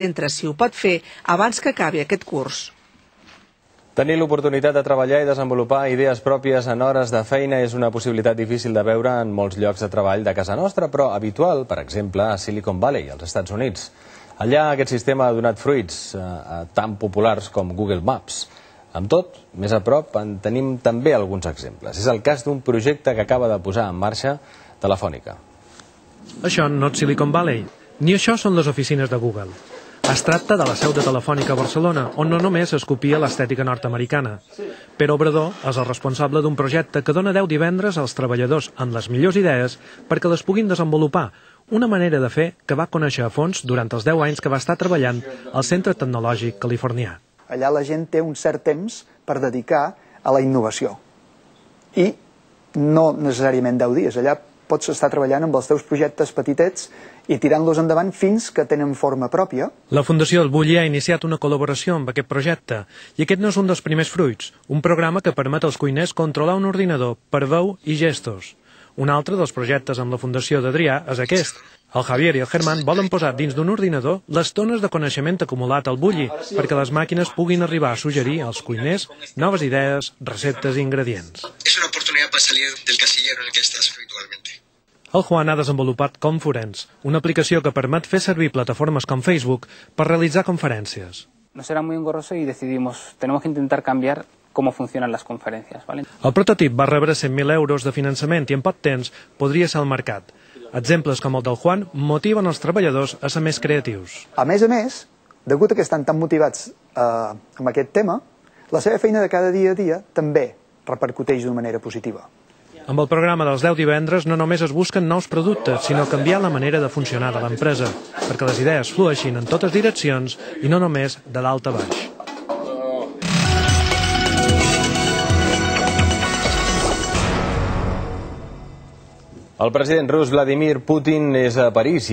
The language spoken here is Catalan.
entre si ho pot fer abans que acabi aquest curs. Tenir l'oportunitat de treballar i desenvolupar idees pròpies en hores de feina és una possibilitat difícil de veure en molts llocs de treball de casa nostra, però habitual, per exemple, a Silicon Valley, als Estats Units. Allà aquest sistema ha donat fruits tan populars com Google Maps. Amb tot, més a prop en tenim també alguns exemples. És el cas d'un projecte que acaba de posar en marxa Telefònica. Això no és Silicon Valley, ni això són les oficines de Google. Es tracta de la seu de Telefònica a Barcelona, on no només es copia l'estètica nord-americana. Pere Obrador és el responsable d'un projecte que dona 10 divendres als treballadors amb les millors idees perquè les puguin desenvolupar, una manera de fer que va conèixer a fons durant els 10 anys que va estar treballant al Centre Tecnològic Californià. Allà la gent té un cert temps per dedicar a la innovació. I no necessàriament 10 dies. Allà pots estar treballant amb els teus projectes petitets i tirant-los endavant fins que tenen forma pròpia. La Fundació El Bulli ha iniciat una col·laboració amb aquest projecte i aquest no és un dels primers fruits, un programa que permet als cuiners controlar un ordinador per veu i gestos. Un altre dels projectes amb la Fundació d'Adrià és aquest. El Javier i el Germán volen posar dins d'un ordinador les tones de coneixement acumulat al Bulli perquè les màquines puguin arribar a suggerir als cuiners noves idees, receptes i ingredients. Es una oportunidad para salir del casillero en el que estás habitualmente. El Juan ha desenvolupat Confurence, una aplicació que permet fer servir plataformes com Facebook per realitzar conferències. Nos era muy engorroso y decidimos, tenemos que intentar cambiar cómo funcionan las conferencias, ¿vale? El prototip va rebre 100.000 euros de finançament i en poc temps podria ser al mercat. Exemples com el del Juan motiven els treballadors a ser més creatius. A més, degut a que estan tan motivats amb aquest tema, la seva feina de cada dia a dia també repercuteix d'una manera positiva. Amb el programa dels 10 divendres no només es busquen nous productes, sinó canviar la manera de funcionar de l'empresa, perquè les idees flueixin en totes direccions i no només de dalt a baix. El president rus Vladimir Putin és a París i